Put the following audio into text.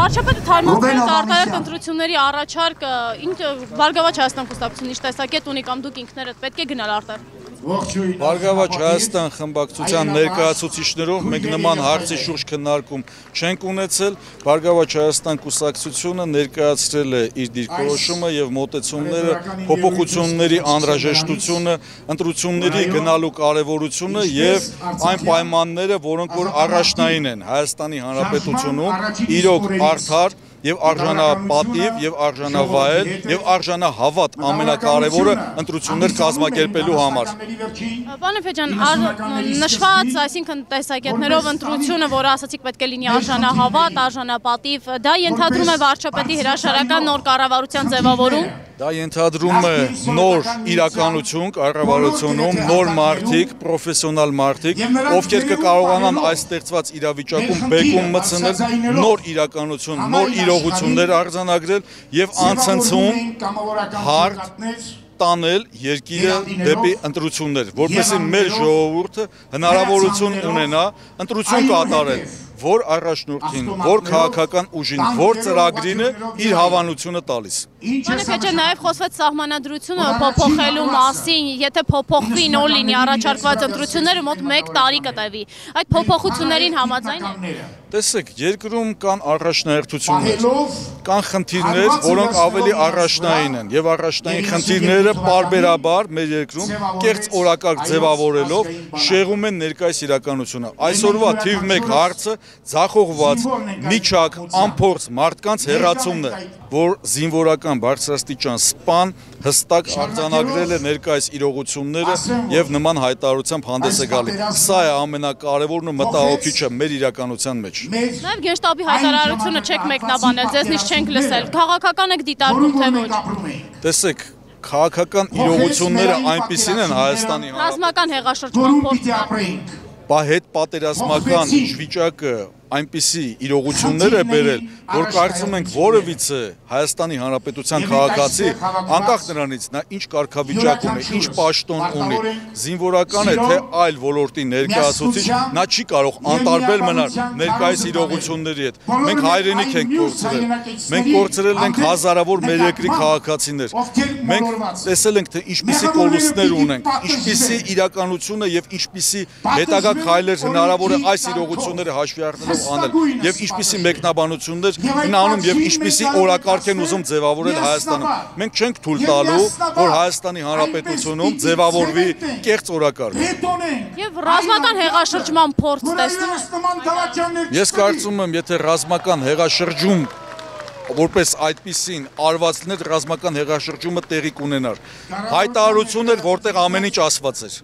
Վարչապետը թարմացրեց արտարակ ընտրությունների առաջարկը, Բարգավաճ Հայաստան կուսակցությունը ինչ տեսակետ ունի կամ դուք ինքներդ պետք է գնալ արտար։ Բարգավաճ Հայաստան խմբակցության ներկայացուցիչներով մենք նման հարցի շուրջ քննարկում չենք ունեցել, Բարգավաճ Հայաստան կուսակցությունը ներկայացրել է իր դիրքորոշումը եւ մոտեցումները, փոփոխությունների անհրաժեշտությունը, ընտրությունների գնալու կարեւորությունը եւ այն պայմանները, որոնք որ առաջնային են Հայաստանի Հանրապետությունում, իրոք արդար եւ արժանապատիվ եւ արժանավայել եւ արժանահավատ ամենակարևորը ընտրություններ կազմակերպելու համար։ Պարոն Էփեջյան, նշված, այսինքն տեսակետներով ընտրությունը, որը ասացիք պետք է լինի արժանահավատ, արժանապատիվ, դա ենթադրում է վարչապետի հրաշարական նոր կառավարության ձևավորում։ Դա ենթադրում է նոր իրականություն կառավարությունում, նոր մարդիկ, պրոֆեսիոնալ մարդիկ, ովքեր կկարողանան այս ստեղծված իրավիճակում բեկում մտցնել, նոր իրականություն, նոր իրողություններ արձանագրել եւ անցնցում հարթ տանել երկիրը դեպի ընտրություններ, որպեսզի մեր ժողովուրդը հնարավորություն ունենա ընտրություն կատարել, որ առաջնորդին, որ քաղաքական ուժին, որ ծրագրին է իր հավանությունը տալիս։ Պարոն Էփեջյան, նաև խոսվեց սահմանադրությունը փոփոխելու մասին, եթե փոփոխվի նոր լինի առաջարկված ընտրությունները, մոտ 1 տարի կտևի։ Այդ փոփոխություններին համաձայն եք։ Տեսեք, երկրում կան առաջնահերթություններ, կան խնդիրներ, որոնք ավելի առաջնային են, եւ առաջնային խնդիրները պարբերաբար մեր երկրում կեղծ օրակարգ ձևավորելով շեղում են ներկայիս իրականությունը։ Այսօրվա թիվ 1 հարցը ձախողված միջակ անփորձ մարդկանց հեռացումն է, որ զինվորական բարձրաստիճան սպան հստակ արձանագրել է ներկայիս իրողությունները եւ նման հայտարարությամբ հանդես է գալի։ Սա է ամենակարևորն ու մտահոգիչը մեր իրականության մեջ։ Նաև Գենշտաբի հայտարարությունը չեք մեկնաբանել, ձեզնից չենք լսել։ Քաղաքական եք դիտարկում թե ոչ։ Տեսեք, քաղաքական իրողությունները այնպիսին են Հայաստանի ռազմական հեղաշրջման փորձ հետ պատերազմական վիճակը այնպիսի իրողություններ է բերել, որ կարծում ենք որևիցե Հայաստանի Հանրապետության քաղաքացի, անկախ նրանից նա ինչ կարգավիճակ ունի, ինչ պաշտոն ունի, զինվորական է թե այլ ոլորտի ներկայացուցիչ, նա չի կարող անտարբեր մնալ ներկայիս իրողությունների հետ։ Մենք հայրենիք ենք կորցրել, մենք կորցրել ենք հազարավոր մեր երկրի քաղաքացիներ, մենք տեսել ենք թե ինչպիսի կորուստներ ունենք, ինչպիսի իրականությունը եւ ինչպիսի հետագա քայլեր հնարավոր է այս իրողությունները հաշվի առնելով անել եւ ինչպիսի մեկնաբանություններ անում եւ ինչպիսի օրակարգ են ուզում ձևավորել Հայաստանում։ Մենք չենք թույլ տալու, որ Հայաստանի Հանրապետությունում ձևավորվի կեղծ օրակարգ։ Եվ ռազմական հեղաշրջման փորձ տեսնում։ Ես կարծում եմ, եթե ռազմական հեղաշրջում որպես այդպիսին արվածներ ռազմական հեղաշրջումը տեղի կունենար։ Հայտարարություն էր, որտեղ ամեն ինչ ասված էր։